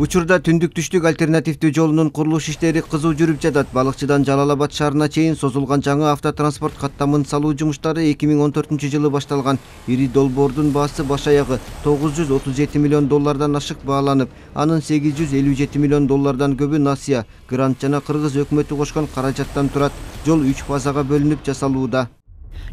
Учурда түндүк-түштүк альтернативдүү жолунун курулуш иштери кызуу жүрүп жатат. Балыкчыдан Жалал Абад шаарына чейин созулган жаңы автотранспорт каттамын салуу жумуштары 2014-жылы башталган. Ири долбоордун баасы баш аягы $937 миллион ашык бааланып, анын $857 миллион көбү насыя, грант жана кыргыз өкмөтү кошкон каражаттан турат. Жол 3 фазага бөлүнүп жасалууда.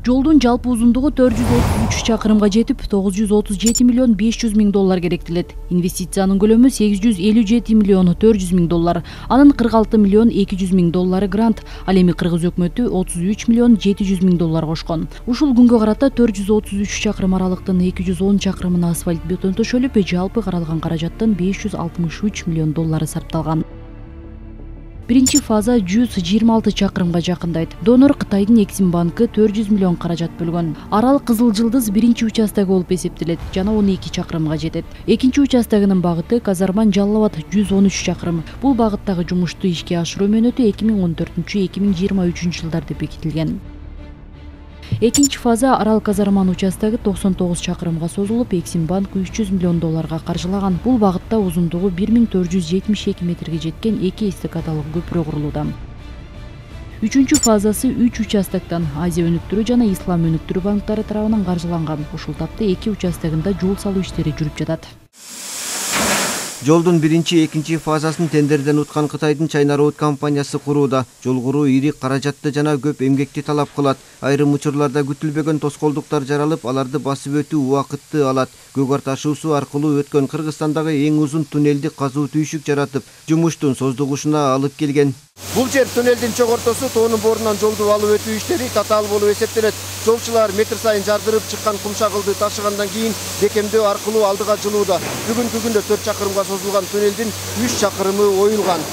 Жолдун жалпы узундугу 433 чакырымга жетип, $937 миллион керектелет. Инвестициянын көлөмү $857 миллион $400 000, анын $46 миллион $200 000 грант, ал эми кыргыз өкмөтү $33 миллион $700 000 кошкон. Ушул күнгө карата 433 чакырым аралыктын 210 чакырымына асфальт бетон төшөлүп, жалпы каралган каражаттын $563 миллион сарпталган. Биринчи фаза 126 чакырымга жакындайт. Донор Кытайдын Эксим банкы 400 миллион каражат бөлгөн. Арал Кызыл Жылдыз биринчи участок болуп эсептелет жана 12 чакырымга жетет. Экинчи участогунун багыты Казарман Жалал Абад 113 чакырым. Бул багыттагы жумушту ишке ашыруу мөөнөтү 2014-2023 жылдарда бекитилген. Экинчи фаза Арал Казарман участогу 99 чакырымга созулуп, Эксим банк $300 миллион каржылаган. Бул багытта узундугу 1472 метрге жеткен 2 эстакадалык көпүрө курулууда. Үчүнчү фазасы 3 участоктон Азия өнүктүрүү жана Ислам өнүктүрүү банктары тарабынан каржыланган. Ушул тапта 2 участогунда жол салуу иштери жүрүп жатат. Жолдун биринчи, экинчи фазасын тендерден уткан Кытайдын China Road компаниясы курууда. Жол куруу ири каражатты жана көп эмгекти талап кылат. Айрым учурларда күтүлбөгөн тоскоолдуктар жаралып, аларды басып өтүү убакытты алат. Көгөр ташуусу аркылуу өткөн Кыргызстандагы эң узун туннелди казуу түйшүк жаратып, жумуштун создугушуна алып келген. Бул жер туннелдин чогортосу, тоонун борунан жолду алып өтүү иштери татаал болуп эсептелет. Жолчулар метр сайын жардырып чыккан кумшагылды ташыгандан кийин бекемдөө аркылуу алдыга жылууда. Бүгүнкү күндө 4 чакырымга созулган туннелдин 3 чакырымы оюлган.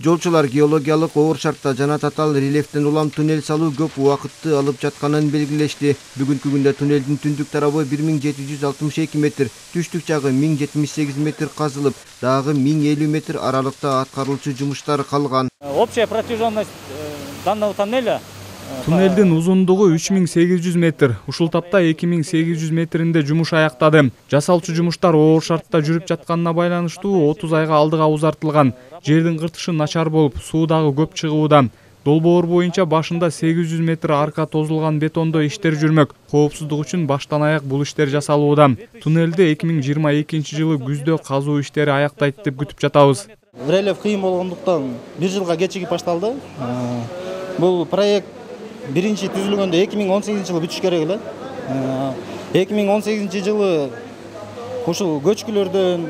Жолчулар геологиялык оор шартта жана татаал рельефтен улам туннель салуу көп убакытты алып жатканын белгилешти. Бүгүнкү күндө туннелдин түндүк тарабы 1762 метр, түштүк жагы 1078 метр казылып, дагы 1050 метр аралыкта аткарылчу жумуштар калган. Общая протяженность данного тоннеля Туннелдин узундугу 3800 метр. Ушул тапта 2800 метринде жумуш аяктады. Жасалчу жумуштар оор шартта жүрүп жатканына байланыштуу 30 айга алдыга узартылган. Жердин кыртышы начар болуп, суу дагы көп чыгууда. Долбоор боюнча башында 800 метр арка тозулган бетондо иштер жүрмөк. Коопсуздук үчүн баштан аяк бул иштер жасалууда. Туннелди 2022 жылы күздө казуу иштери аяктайт деп күтүп жатабыз. Рельеф кыйын болгондуктан 1 жылга кечигип башталды. Бул проект биринчи түзүлгөндө 2018 жылы бүтүш керек эле. 2018 жылы ушул көчкүлөрдөн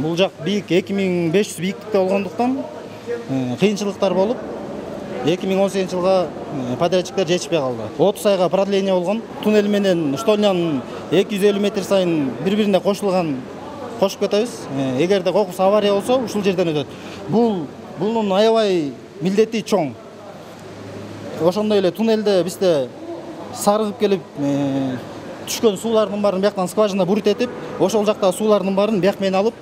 бул жак бийик 2500 бийиктикте болгондуктан кыйынчылыктар болуп 2018 жылга подрядчиктер жетишпей калды. 30 айга продление болгон. Туннель менен штольнянын 250 метр сайын бири-бирине кошуп кетебиз. Эгерде кокус авария болсо, ушул жерден өтөт. Бунун аябай милдети чоң. Ошондой эле туннелде бизде сарыгып келип түшкөн суулардын баарын бияктан скважина бурут этип, ошол жактагы суулардын баарын бияк менен алып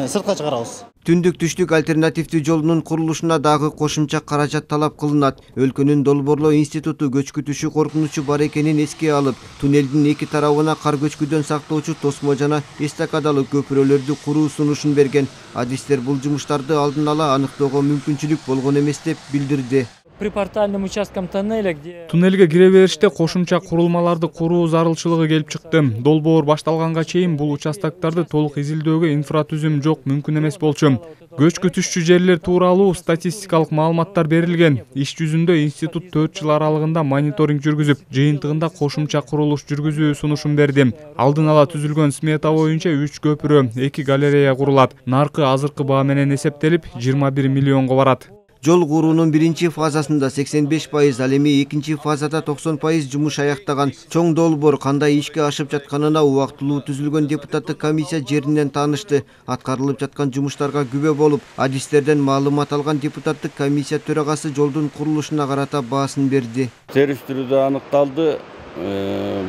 сыртка чыгарабыз. Түндүк-түштүк альтернативдүү жолунун курулушуна дагы кошумча каражат талап кылынат. Өлкөнүн долбоорлоо институту көчкү түшүү коркунучу бар экенин эске алып, туннелдин эки тарабына кар көчкүдөн сактоочу тосмо жана эстакадалык көпүрөлөрдү куруу сунушун берген. Адистер бул жумуштарды алдын ала аныктоого мүмкүнчүлүк болгон эмес деп билдирди. припортальным участкам тоннеля, где Туннелге кире бериште кошумча курулмаларды куруу зарылчылыгы келип чыкты. Долбоор башталганга чейин бул участокторду толук изилдөөгө инфратүзүм жок, мүмкүн эмес болчу. Көчкү түшчү жерлер тууралуу статистикалык маалыматтар берилген. Иш жүзүндө институт 4 жыл аралыгында мониторинг жүргүзүп, жыйынтыгында кошумча курулуш жүргүзүү сунушун берди. Алдын ала түзүлгөн смета боюнча 3 көпүрө, 2 галерея курулат. Наркы азыркы баа менен эсептелип 21 миллионго барат. Жол куруунун биринчи фазасында 85%, ал эми экинчи фазада 90% жумуш аяктаган. Чоң долбоор кандай ишке ашып жатканына убактылуу түзүлгөн депутаттык комиссия жеринен таанышты. Аткарылып жаткан жумуштарга күбө болуп, адистерден маалымат алган депутаттык комиссия төрагасы жолдун курулушуна карата баасын берди. Териштирүүдө аныкталды.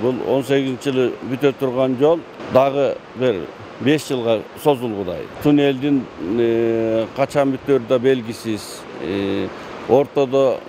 Бул 18-жылы бүтө турган жол дагы бир 5 жылга созулгудай. Туннелдин качан бүтөөрү да белгисиз. Ортодогу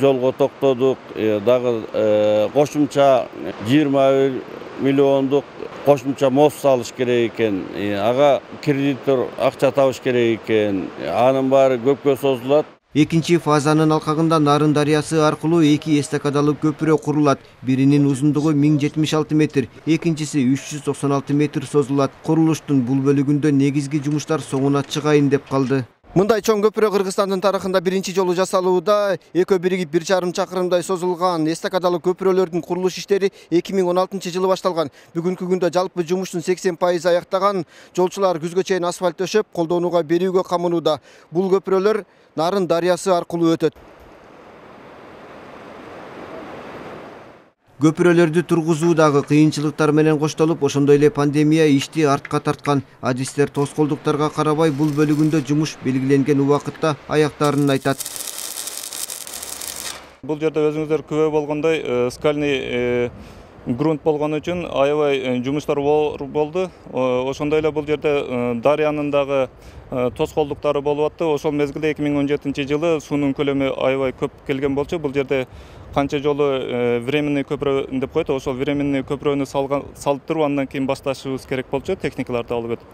жолго токтодук, дагы кошумча 21 миллиондук кошумча мост салыш керек экен, ага кредитор акча табыш керек экен. Анын баары көпкө созулат. Экинчи фазанын алкагында Нарын дарыясы аркылуу 2 эстакадалык көпүрө курулат. Биринин узундугу 1076 метр, экинчиси 396 метр созулат. Курулуштун бул бөлүгүндө негизги жумуштар соңуна чыгайын деп калды. Мындай чоң көпүрө Кыргызстандын тарыхында биринчи жолу жасалууда. Экөө биригип 1,5 чакырымдай созулган эстакадалык көпүрөлөрдүн курулуш иштери 2016 жылы башталган. Бүгүнкү күндө жалпы жумуштун 80% аяктаган. Жолчулар күзгө чейин асфальт төшөп, колдонууга берүүгө камынууда. Бул көпүрөлөр Нарын дарыясы аркылуу өтөт. Көпүрөлөрдү тургузуудагы кыйынчылыктар менен коштолуп, ошондой эле пандемия ишти артка тарткан. Адистер тоскоолдуктарга карабай бул бөлүгүндө жумуш белгиленген убакытта аяктаарын айтат. Бул жерде өзүңүздөр күбө болгондой скальный грунт болгон үчүн аябай жумуштар болду. Ошондой эле бул жерде дарыянын дагы тоскоолдуктары болуп атты. Ошол мезгилде 2017 жылы суунун көлөмү аябай көп келген болчу. Бул жерде канча жолу временный көпүрө деп коет. Ошол временный көпүрөнү салып туруп, андан кийин башташыбыз керек болчу, техникаларды алып өтүп.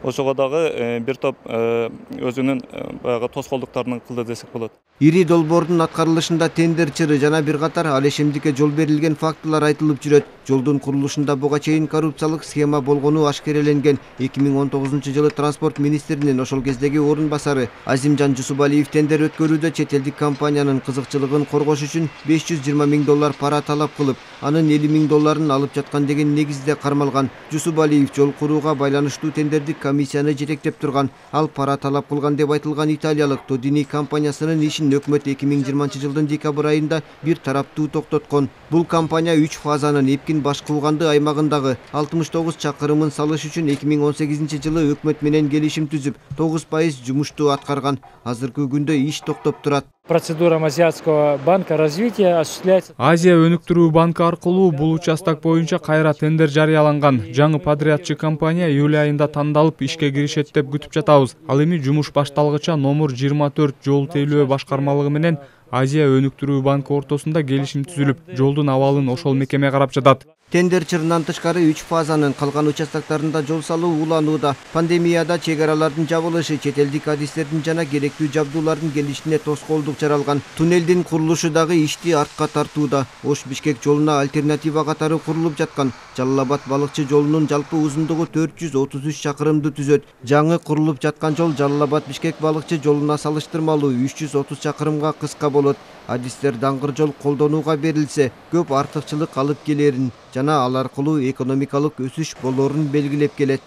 Ошого дагы бир топ өзүнүн баягы тоскоолдуктарын кылды десек болот. Ири долбоордун аткарылышында тендер чыры жана бир катар алешемдикке жол берилген фактылар айтылып жүрөт. Жолдун курулушунда буга чейин коррупциялык схема болгону ашкереленген. 2019 жылы транспорт министринин ошол кездеги орун басары Азимжан Жусубалиев тендер өткөрүүдө чет элдик компаниянын кызыкчылыгын коргош үчүн $520 000 пара талап кылып, анын $50 000 алып жаткан деген негизде кармалган. Жусубалиев жол курууга байланыштуу тендердик комиссияны жетектеп турган. Ал пара талап кылган деп айтылган италиялык Тодини компаниясынын ишин өкмөт 2020 жылдын декабрь айында бир тараптуу токтоткон. Бул компания 3 фазанын Эпкин Башкулганды аймагындагы 69 чакырымын салыш үчүн 2018 жылы өкмөт менен келишим түзүп, 9% жумушту аткарган. Азыркы күндө иш токтоп турат. Процедура Азиатского банка развития осуществляется. Азия өнүктүрүү банкы аркылуу бул участок боюнча кайра тендер жарыяланган. Жаңы подрядчы компания июль айында тандалып ишке киришет деп күтүп жатабыз. Ал эми жумуш башталгыча номер 24 жол тейлөө башкармалыгы менен Азия өнүктүрүү банкы ортосунда келишим түзүлүп, жолдун абалын ошол мекеме карап жатат. Тендер чырынан тышкары 3 фазанын калган участоктарында жол салуу уланууда. Пандемияда чек аралардын жабылышы, чет элдик адистердин жана керектүү жабдуулардын келишине тоскоолдук жаралган. Туннелдин курулушу дагы ишти артка тартууда. Ош-Бишкек жолуна альтернатива катары курулуп жаткан Жалал-Абад балыкчы жолунун жалпы узундугу 433 чакырымды түзөт. Жаңы курулуп жаткан жол Жалал-Абад-Бишкек балыкчы жолуна салыштырмалуу 330 чакырымга кыска болот. Адистер даңгыр жол колдонууга берилсе, көп артыкчылык алып келерин жана ал аркылуу экономикалык өсүш болорун белгилеп келет.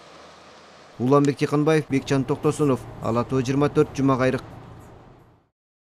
Уланбек Тиханбаев, Бекжан Токтосунов, Ала Тоо 24, Жума Кайрык.